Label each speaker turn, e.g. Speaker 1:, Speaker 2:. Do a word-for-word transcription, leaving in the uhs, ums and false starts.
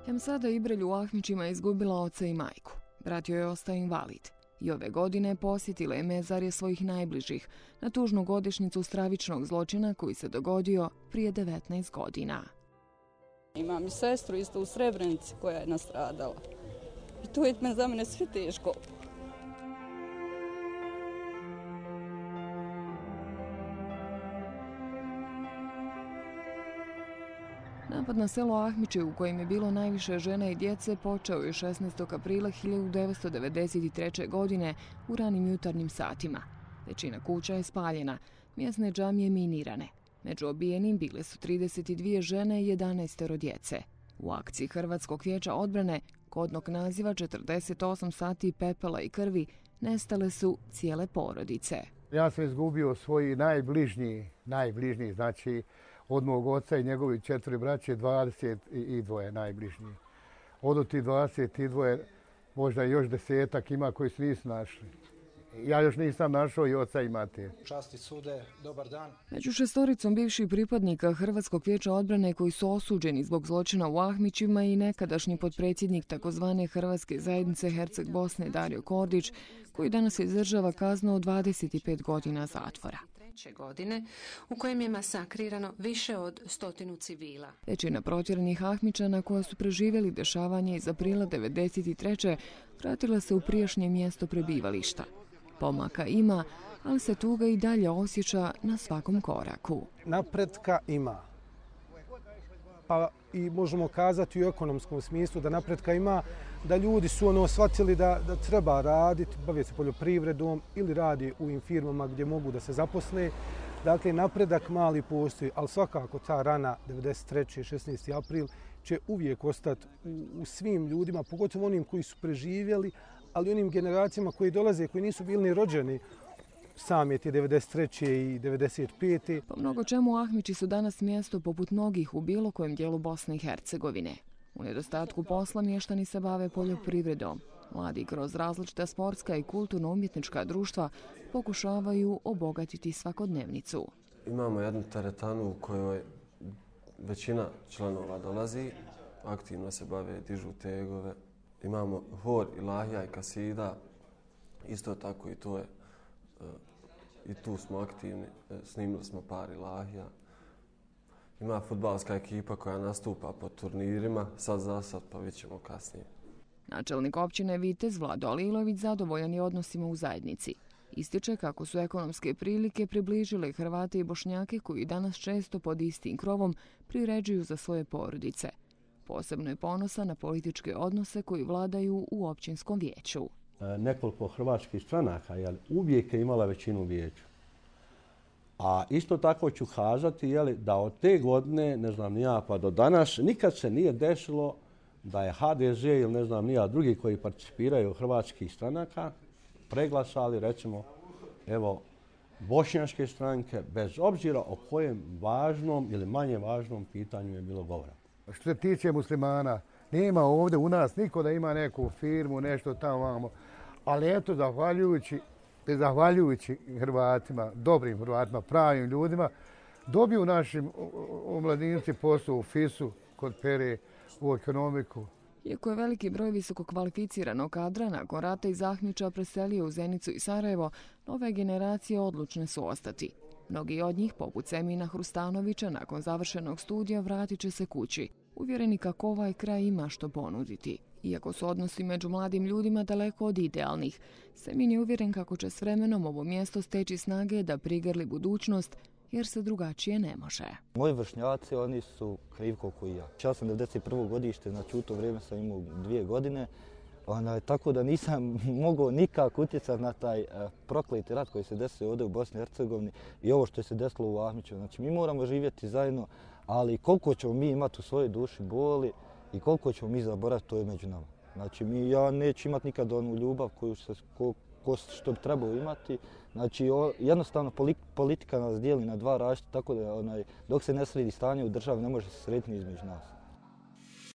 Speaker 1: Emsada Ibrelj u Ahmićima je izgubila oca i majku. Brat joj je ostao invalid. I ove godine posjetila je mezarje svojih najbližih na tužnu godišnjicu stravičnog zločina koji se dogodio prije devetnaest godina.
Speaker 2: Imam i sestru isto u Srebrenici koja je nastradala. I to je za mene sve teško.
Speaker 1: Napad na selo Ahmiće, u kojem je bilo najviše žena i djece, počeo je šesnaestog aprila hiljadu devetsto devedeset treće. godine u ranim jutarnjim satima. Većina kuća je spaljena, mjesne džamije minirane. Među obijenim bile su trideset dvije žene i jedanaest djece. U akciji Hrvatskog vijeća odbrane, kodnog naziva četrdeset osam sati pepela i krvi, nestale su cijele porodice.
Speaker 3: Ja sam izgubio svoji najbližnji, najbližnji, znači od mog oca i njegovi četiri braće, dvadeset dvoje najbližnji. Od tih dvadeset dvoje, možda još desetak ima koji se nisu našli. Ja još nisam našao i oca i mater.
Speaker 4: Časti sude, dobar dan.
Speaker 1: Među šestoricom bivših pripadnika Hrvatskog vijeća odbrane koji su osuđeni zbog zločina u Ahmićima i nekadašnji potpredsjednik takozvane Hrvatske zajednice Herceg Bosne Dario Kordić, koji danas izdržava kaznu od dvadeset pet godina zatvora.
Speaker 5: Godine u kojem je masakrirano više od stotinu civila.
Speaker 1: Većina protjeranih Ahmićana koja su preživjeli dešavanje iz aprila devedeset treće. vratila se u prijašnje mjesto prebivališta. Pomaka ima, ali se tuga i dalje osjeća na svakom koraku.
Speaker 4: Napretka ima. Pa i možemo kazati u ekonomskom smislu da napretka ima, da ljudi su ono shvatili da, da treba raditi, baviti se poljoprivredom ili radi u ovim firmama gdje mogu da se zaposle. Dakle, napredak mali postoji, ali svakako ta rana devedeset treće. šesnaesti april će uvijek ostati u, u svim ljudima, pogotovo onim koji su preživjeli, ali onim generacijama koji dolaze, koji nisu bili ni rođeni sam je ti devedeset treće. i devedeset pete.
Speaker 1: Po mnogo čemu Ahmići su danas mjesto poput mnogih u bilo kojem dijelu Bosne i Hercegovine. U nedostatku posla mještani se bave poljoprivredom. Mladi kroz različita sportska i kulturno-umjetnička društva pokušavaju obogatiti svakodnevnicu.
Speaker 6: Imamo jednu teretanu u kojoj većina članova dolazi, aktivno se bave, dižu tegove. Imamo hor, ilahija i kasida, isto tako i to je, i tu smo aktivni, snimili smo par ilahija. Ima fudbalska ekipa koja nastupa po turnirima, sad za sad, pa vidjet ćemo kasnije.
Speaker 1: Načelnik općine Vitez Vlado Alilović zadovoljan je odnosima u zajednici. Ističe kako su ekonomske prilike približile Hrvate i Bošnjake koji danas često pod istim krovom priređuju za svoje porodice. Posebno je ponosan na političke odnose koji vladaju u općinskom vijeću.
Speaker 7: Nekoliko hrvatskih stranaka jel, uvijek je imala većinu u vijeću. A isto tako ću kazati jel, da od te godine, ne znam ni ja, pa do danas, nikad se nije desilo da je ha de ze ili ne znam ni ja drugi koji participiraju hrvatskih stranaka preglasali recimo evo bošnjačke stranke bez obzira o kojem važnom ili manje važnom pitanju je bilo govora.
Speaker 3: Što se tiče muslimana, nema ovdje u nas niko da ima neku firmu, nešto tamo vamo. Ali eto, zahvaljujući, zahvaljujući Hrvatima, dobrim Hrvatima, pravim ljudima, dobiju našim omladinci posao u fisu, kod pere, u ekonomiku.
Speaker 1: Iako je veliki broj visoko kvalificiranog kadra nakon rata iz Ahmića preselio u Zenicu i Sarajevo, nove generacije odlučne su ostati. Mnogi od njih, poput Semina Hrustanovića, nakon završenog studija vratit će se kući, uvjereni kako ovaj kraj ima što ponuditi. Iako su odnosi među mladim ljudima daleko od idealnih, Semin je uvjeren kako će s vremenom ovo mjesto steći snage da prigrli budućnost, jer se drugačije ne može.
Speaker 8: Moji vršnjaci, oni su krivi koliko i ja. Ja sam devedeset prvo godište, znači u to vrijeme sam imao dvije godine, Ona, tako da nisam mogao nikako utjecati na taj uh, prokleti rat koji se desio ovdje u Bosni i Hercegovini i ovo što se desilo u Ahmiću. Znači, mi moramo živjeti zajedno, ali koliko ćemo mi imati u svojoj duši boli i koliko ćemo mi zaboraviti, to je među nama. Znači, mi, ja neću imati nikad onu ljubav koju se, ko, ko, što bi trebao imati. Znači, o, jednostavno politika nas dijeli na dva različita, tako da onaj, dok se ne sredi stanje u državi ne može se srediti između nas.